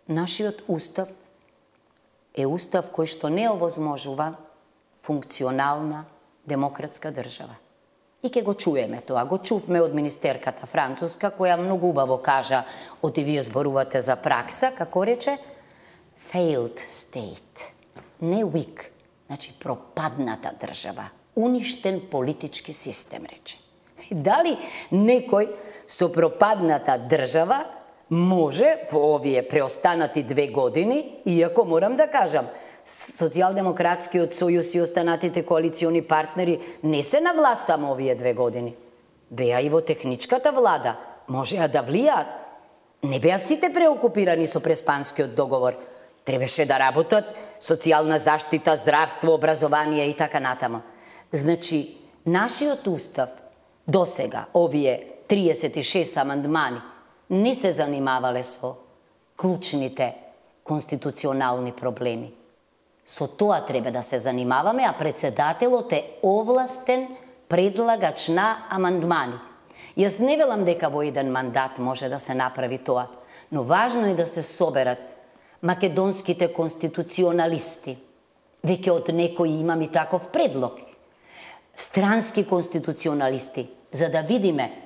Нашиот устав е устав кој што не овозможува функционална демократска држава. И ке го чуеме тоа. Го чувме од министерката француска, која многу убаво кажа, оти вие зборувате за пракса, како рече, failed state, не weak, значи пропадната држава, уништен политички систем, рече. Дали некој со пропадната држава може во овие преостанати 2 години, иако морам да кажам, Социјалдемократскиот сојуз и останатите коалициони партнери не се на власт само овие 2 години. Беа и во техничката влада, можеа да влијаат. Не беа сите преокупирани со Преспанскиот договор. Требаше да работат социјална заштита, здравство, образование и така натаму. Значи, нашиот устав досега, овие 36 амандмани, не се занимавале со клучните конституционални проблеми. Со тоа треба да се занимаваме, а председателот е овластен предлагач на амандмани. Јас не велам дека во еден мандат може да се направи тоа, но важно е да се соберат македонските конституционалисти. Веќе од некои имам и таков предлог. Странски конституционалисти, за да видиме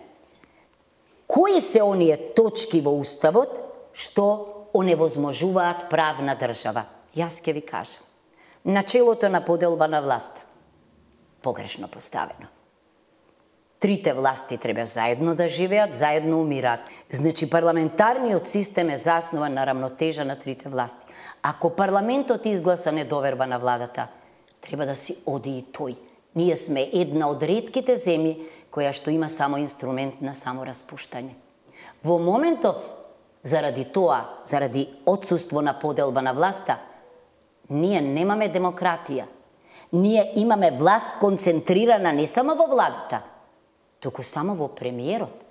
кои се оние точки во уставот што оневозможуваат правна држава. Јас ќе ви кажам. Начелото на поделба на власта. Погрешно поставено. Трите власти треба заедно да живеат, заедно умираат. Значи, парламентарниот систем е заснован на рамнотежа на трите власти. Ако парламентот изгласа недоверба на владата, треба да си оди и тој. Ние сме една од ретките земји која што има само инструмент на самораспуштање. Во моментов, заради тоа, заради отсуство на поделба на власта, ние немаме демократија. Ние имаме власт концентрирана не само во владата, туку само во премиерот.